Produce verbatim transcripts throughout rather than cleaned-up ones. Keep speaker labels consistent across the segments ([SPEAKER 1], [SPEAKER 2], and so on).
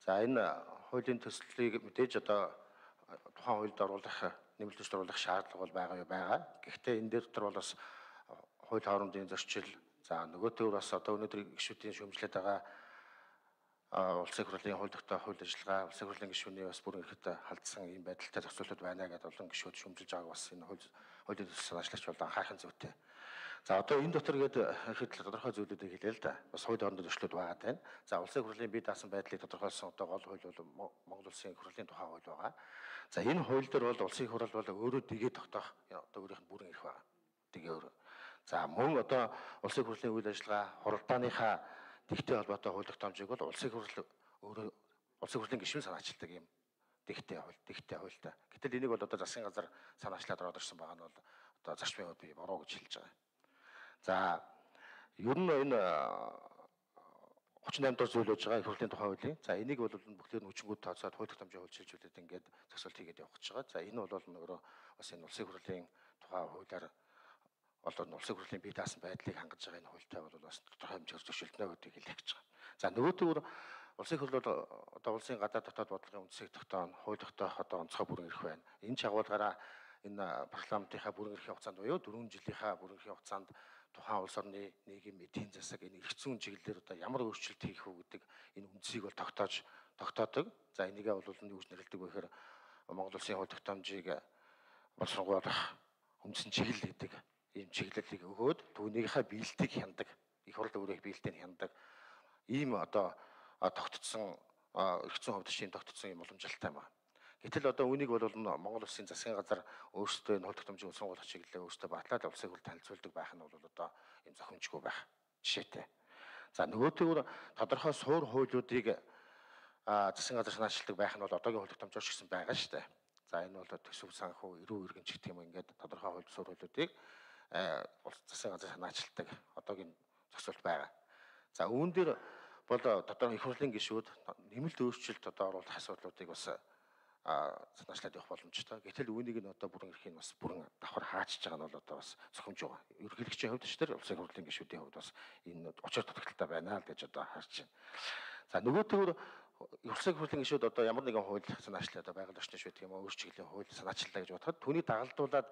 [SPEAKER 1] За энэ хуулийн төслийг мэдээж одоо тухайн хуульд оруулах нэмэлт оруулах шаардлага бол байгаа юу байгаа. Гэхдээ энэ дээр дотор бол бас хууль хоорондын зөрчил за нөгөө төр бас одоо өнөөдөр гишүүдийн шүүмжлээд байгаа улсын хурлын хууль тогтоох хууль ажиллагаа улсын хурлын гишүүний бас бүрэн эрхт халдсан ийм байдалтай зохицуулалт байна гэдэг олон гишүүд шүүмжилж байгааг бас энэ хууль хуулийн төсөл санаачлагч бол анхаарах зүйтэй. За одоо энэ дотор гээд ихэд тодорхой зүйлүүдийг хэлээ л да. Бас хууль хоорондын зөрчлүүд байгаа тань. За улсын хурлын бие даасан байдлыг тодорхойлсон одоо гол хууль бол Монгол улсын хурлын тухай хууль байгаа. За энэ хууль дээр бол улсын хурал бол өөрөө дэгээ тогтоох одоо өөрийнх нь бүрэн эрх байна. Дэгээ өөрөө. За мөн одоо улсын хурлын үйл ажиллагаа хуралдааныхаа тэгтэй холбоотой хууль тогтоомжийг бол улсын хурал өөрөө улсын хурлын гишүүн санаачилдаг юм тэгтэй хууль, тэгтэй хуультай. Гэтэл энийг бол одоо засгийн газар санаачлаад ороод ирсэн байгаа нь бол одоо зарчмын хувьд би буруу гэж хэлж байгаа. За ер нь энэ гучин восемь дахь зүйл байж байгаа их хурлын тухай хуулийн. За энийг бол бүгдээр нь хүчингүүд тооцоод хууль тогтоомжийн хууль шилжүүлээд ингээд зохицуулт хийгээд явах гэж байгаа. За энэ бол нөгөө бас энэ улсын хурлын тухай хуулиар олон улсын хурлын бие даасан байдлыг хангаж байгаа энэ хуультай бол бас тодорхой хэмжээгээр зөвшөлдөнө гэдгийг хэлэх гэж байгаа. За нөгөө төр улсын хурл бол одоо улсын гадаад дотоод бодлогын үндсийг тогтооно, хууль тогтоох одоо онцгой бүрэн эрх байна. Энэ чагуулгаараа энэ парламентынхаа бүрэн эрхийн хугацаанд буюу дөрвөн жилийнхаа бүрэн эрхийн хугацаанд тухайн улс орны нийгэм эдийн засаг энэ эрх зүйн чиглэлээр одоо ямар өөрчлөлт хийх үү гэдэг энэ үндсийг бол тогтоож тогтоодог. За энийгээ бол юу гэж нэрлэдэг вэ гэхээр Монгол улсын хууль тогтоомжийг боловсруулах үндсэн чиглэл гэдэг ийм чиглэлийг өгөөд түүнийхээ биелэлтийг хяндаг. Их хурл өөрийн биелэлтийг хяндаг. Ийм одоо тогтцсон эрх зүйн хувьд шинэ тогтцсон юм уламжлалтай байна. Гэтэл одоо үнийг бол Монгол улсын засгийн газар өөрсдөө энэ хууль тогтоомжийн уусгуулах чиглэлээ өөрсдөө батлаад улсын хурлд танилцуулдаг байх нь бол одоо ийм зохимжгүй байх жишээтэй. За нөгөөтэйгөр тодорхой суур хуулиудыг засгийн газар санаачилдаг байх нь бол одоогийн хууль тогтоомжоор ч гэсэн байгаа шүү дээ. За энэ бол төсөв санхүү, эрүү иргэн ч гэх юм ингээд тодорхой хууль суур хуулиудыг засгийн газар санаачилдаг одоогийн зохицуулт байгаа. За үүн дээр бол тодорхой их хурлын гишүүд нэмэлт өөрчлөлт одоо оруулах асуудлуудыг бас санаачлаад явах боломжтой. Гэтэл үүнийг нь одоо бүрэн эрхийн бас бүрэн давхар хаачиж байгаа нь бол одоо бас зохимж байгаа. Ерөнхийлөгчийн хувьд ч тэр улсын хурлын гишүүдийн хувьд бас энэ очир тодорхойлолтой байна л гэж одоо харж байна. За нөгөө төр улсын хурлын гишүүд одоо ямар нэгэн хууль санаачлаад одоо байгаль орчны шийдэх юм уу, өөр чиглэлийн хууль санаачлалаа гэж бодоход түүнийг дагалдуулаад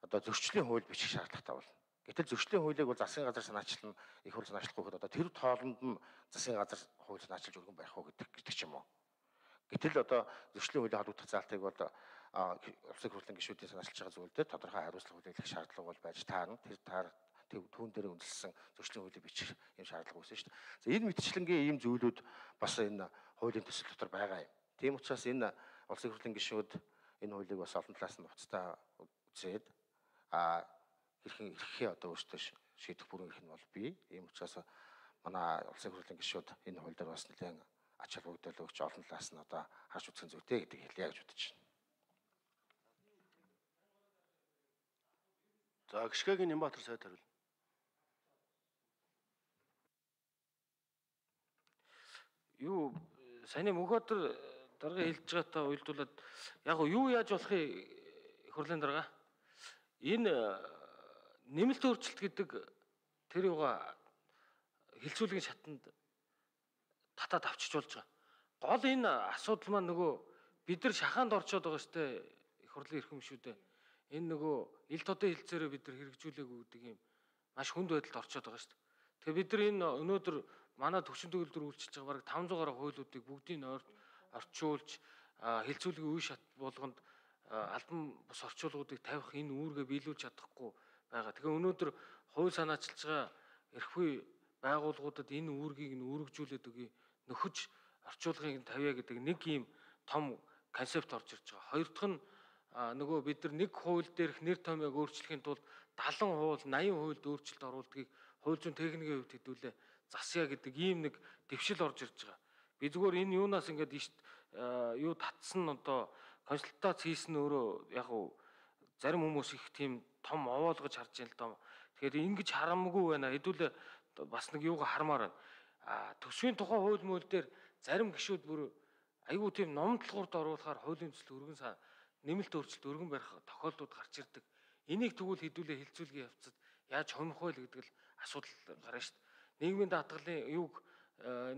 [SPEAKER 1] одоо зөрчлийн хууль бичих шаардлагатай болно. Гэтэл зөрчлийн хуулийг бол засгийн газар санаачлан их хурл санаачлахгүй одоо тэр тоолонд нь засгийн газар хууль санаачилж өргөн барих уу гэдэг гэдэг ч юм уу. Гэтэл одоо зөрчлийн хуулийн холбогдох заалтыг бол улсын хурлын гишүүдийн санаачилж байгаа зүйл дээр тодорхой хариуцлага хүлээх шаардлага бол байж таарна. Тэр таар түүн дээр үндэслэн зөрчлийн хуулийг бичих юм шаардлага үүснэ шүү дээ. За энэ мэтчилэнгийн ийм зүйлүүд бас энэ хуулийн төсөл дотор байгаа юм. Тийм учраас энэ улсын хурлын гишүүд энэ хуулийг бас олон талаас нь уцтаа үзээд а хэрхэн эрхээ одоо өөртөө шийдэх бүрэн эрх нь бол бий. Ийм учраас манай улсын хурлын гишүүд энэ хууль дээр бас нэлээд ач холбогдол өгч олон талаас нь одоо харж үзэх зүйтэй гэдэг хэлье гэж бодож байна.
[SPEAKER 2] За гიშгэгийн Нямбатар сайд хариулна.
[SPEAKER 3] Юу саяны Мөнхбаатар дарга хэлж байгаатай уялдуулаад яг юу яаж болохыг их хурлын дарга энэ нэмэлт өөрчлөлт гэдэг тэр юугаа хилцүүлгийн шатанд татаад авчиж болж байгаа. Гол энэ асуудал маань нөгөө бид нар шахаанд орчоод байгаа штэ их хурлын эрхэм шүүдээ. Энэ нөгөө ил тодын хилцээрээ бид нар хэрэгжүүлээгүй гэдэг юм маш хүнд байдалд орчоод байгаа штэ. Тэгээ бид нар энэ өнөөдөр манай төвчөн төгөлдөр үйлчилж байгаа бараг таван зуун гаруй хуулиудыг бүгдийг нь орчуулж хилцүүлгийн үе шат болгонд албан бус орчуулгуудыг тавих энэ үүргээ биелүүлж чадахгүй байгаа. Тэгэхээр өнөөдөр хууль санаачилж байгаа эрхвээ байгууллагуудад энэ үүргийг нь үүргэжүүлээд өгье, нөхөж орчуулгыг нь тавья гэдэг нэг ийм том концепт орж ирж байгаа. Хоёр дахь нь нөгөө бид нар нэг хууль дээрх нэр томьёог өөрчлөхийн тулд дагалан хууль, наян хуульд өөрчлөлт оруулдгийг хууль зүйн техникийн хувьд хэдүүлээ засъя гэдэг ийм нэг дэвшил орж ирж байгаа. Би зүгээр энэ юунаас ингээд юу татсан одоо консультац хийсэн өөрөө яг уу зарим хүмүүс их тийм том овоолгож харж байна л доо. Тэгэхээр ингэж харамгүй байна. Хэдүүлээ бас нэг юугаа хармаар байна. А төсвийн тухай хууль мөл дээр зарим гишүүд бүр айгүй тийм номдлогоорд оруулахаар хуулийн төсөл өргөн сан нэмэлт өөрчлөлт өргөн барих тохиолдлууд гарч ирдэг. Энийг тэгвэл хэдүүлээ хилцүүлгийн явцад яаж хомих вэ гэдэг л асуудал гарна шүү дээ. Нийгмийн даатгалын юуг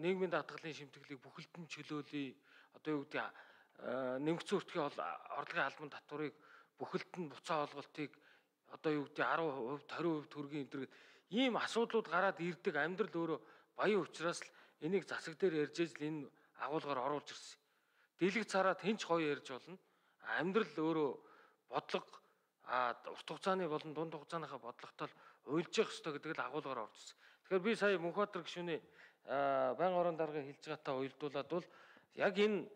[SPEAKER 3] нийгмийн даатгалын шимтгэлийг бүхэлд нь чөлөөлөе. Одоо юу гэдэг нэмэгдсэн өртгийн орлогын албан татварыг бүхэлд нь буцаа олголтыг одоо юу гэдэг десять хувь хариу хувь төргийн энэ ийм асуудлууд гараад ирдэг. Амьдрал өөрөө баян учраас л энийг засаг дээр ярьж ижил энэ агуулгаар оруулж ирсэн. Дэлгэц хараад хинч гоё ярьж болно. Амьдрал өөрөө бодлого а урт хугацааны болон дунд хугацааныхаа бодлоготой уйлж явах ёстой гэдэг л агуулгаар орж ирсэн. Тэгэхээр би сая Мөнхбаатар гишүүний байнгын орон даргыг хэлж байгаатай уялдуулаад бол яг энэ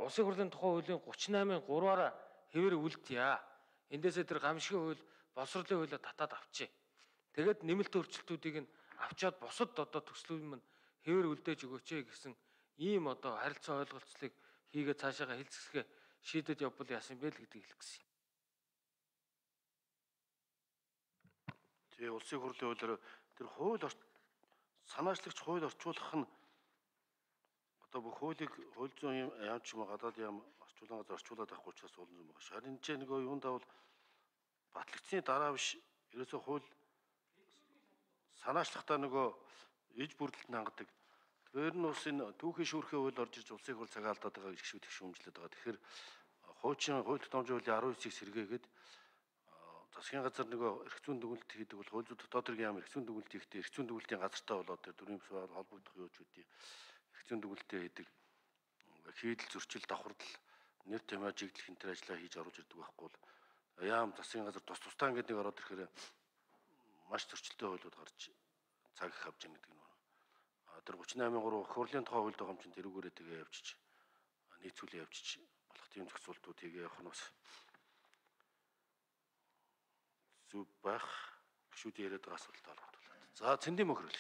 [SPEAKER 3] улсын хурлын тухай хуулийн гутрин наймын гурваараа хэвээр үлдъя. Эндээсээ тэр гамшигын хууль, боловсролын хуулиа татаад авчээ. Тэгээд нэмэлт өөрчлөлтүүдийг нь авчаад бусад одоо төслүүд мань хэвээр үлдээж өгөөч гэсэн ийм одоо харилцаа ойлголцлыг хийгээд цаашаага хэлцэсгээ шийдэд явбал яасан бэ л гэдгийг хэлэх гэсэн.
[SPEAKER 2] Тэгээ улсын хурлын хуулиар тэр хууль санаачлагч хууль орчуулах нь одоо бүх хуулийг хууль зүйн яам ч юм уу гадаад яам орчуулан газар орчуулад авахгүй учраас олон юм байна. Харин ч нөгөө юунд давал батлагдсны дараа биш ерөөсөө хууль санаачлагтаа нөгөө иж бүрдэлд хангадаг. Тэр нь ус энэ түүхийн шүүрхээ хууль орж ирж улсын хурл цагаа алдаад байгаа гişүүд их шүүмжлээд байгаа. Тэгэхээр хуучин хууль тогтоомжийн хуулийн арван девятыг сэргээгээд засгийн газар нөгөө эрх зүйн дүгнэлт хийдэг бол хууль зүйн дотоод хэргийн яам эрх зүйн дүгнэлт хийхдээ эрх зүйн дүгнэлтийн газартаа болоод тэр дөрвөн бусаар холбогдох юу ч үгүй. Эрх зүйн дүгнэлтээ хийдэг. Хийдэл зөрчил давхардал нэр томьёо жиглэх энэ ажлаа хийж оруулж ирдэг байхгүй бол яам засгийн газар тус тустаа ингээд нэг ороод ирэхээр маш зөрчилтэй хуулиуд гарч цаг их авч яах гэдэг нь. А тэр гутрин наймын гурав хурлын тухай хууль дагам чинь тэрүүгээрээ тэгээ явчих. Нийцүүлээ явчих. Болох тийм зохицуултууд тэгээ явах нь бас зүг байх гişүүд яриад байгаа асуултаа холбогдуулаад. За цэндийн мөхрөл.